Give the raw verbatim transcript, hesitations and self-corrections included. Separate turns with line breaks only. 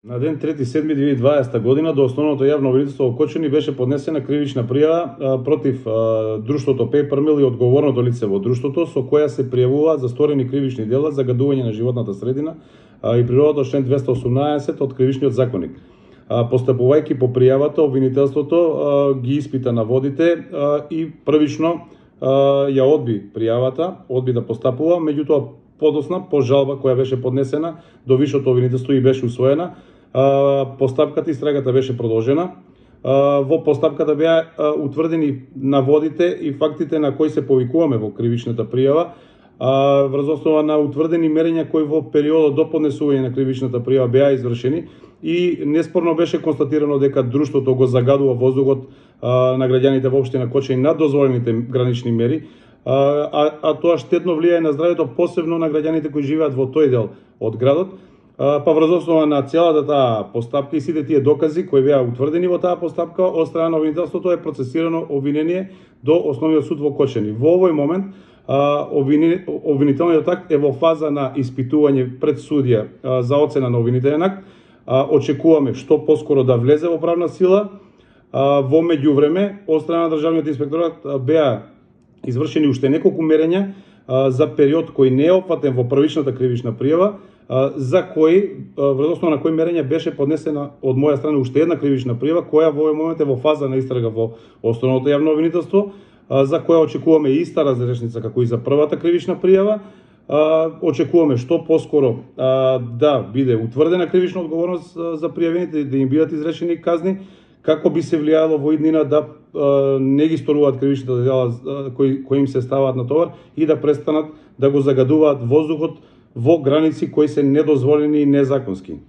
На ден трети седми две илјади и дваесета година до Основното јавно обвинителство во Кочани беше поднесена кривична пријава а, против а, друштвото Paper Mill и одговорното лице во друштвото, со која се пријавуваат за сторени кривични дела, загадување на животната средина а, и природата, член двеста осумнаесет од Кривичниот законник. А, постапувајќи по пријавата, обвинителството а, ги испита наводите а, и првично а, ја одби пријавата, одби да постапува, меѓутоа подосна по жалба која беше поднесена до Висшето обвинителство и беше усвоена, постапката и истрагата беше продолжена. Во постапката беа утврдени наводите и фактите на кои се повикуваме во кривичната пријава, врз основа на утврдени мерења кои во периодот до поднесување на кривичната пријава беа извршени и неспорно беше констатирано дека друштвото го загадува воздухот на граѓаните во општина Кочани над дозволените гранични мери, а, а тоа штетно влијае на здравјето, посебно на граѓаните кои живеат во тој дел од градот. Па врз основа на целата таа постапка и сите тие докази кои беа утврдени во таа постапка од страна на обвинителството е процесирано обвинение до Основниот суд во Кочани. Во овој момент обвинителниот акт е во фаза на испитување пред судија за оцена на обвинителен акт. Очекуваме што поскоро да влезе во правна сила. Во меѓувреме од страна на државниот инспекторат беа извршени уште неколку мерења за период кој не е опфатен во првичната кривична пријава, за кој, врз основа на кој мерења беше поднесена од моја страна уште една кривична пријава, која во овој момент е во фаза на истрага во Основното јавно обвинителство, за која очекуваме иста разрешница како и за првата кривична пријава. Очекуваме што поскоро да биде утврдена кривична одговорност за пријавените, да им бидат изречени казни, како би се влијало во иднина да не ги сторуваат кривичните дела кои, кои им се ставаат на товар и да престанат да го загадуваат воздухот во граници кои се недозволени и незаконски.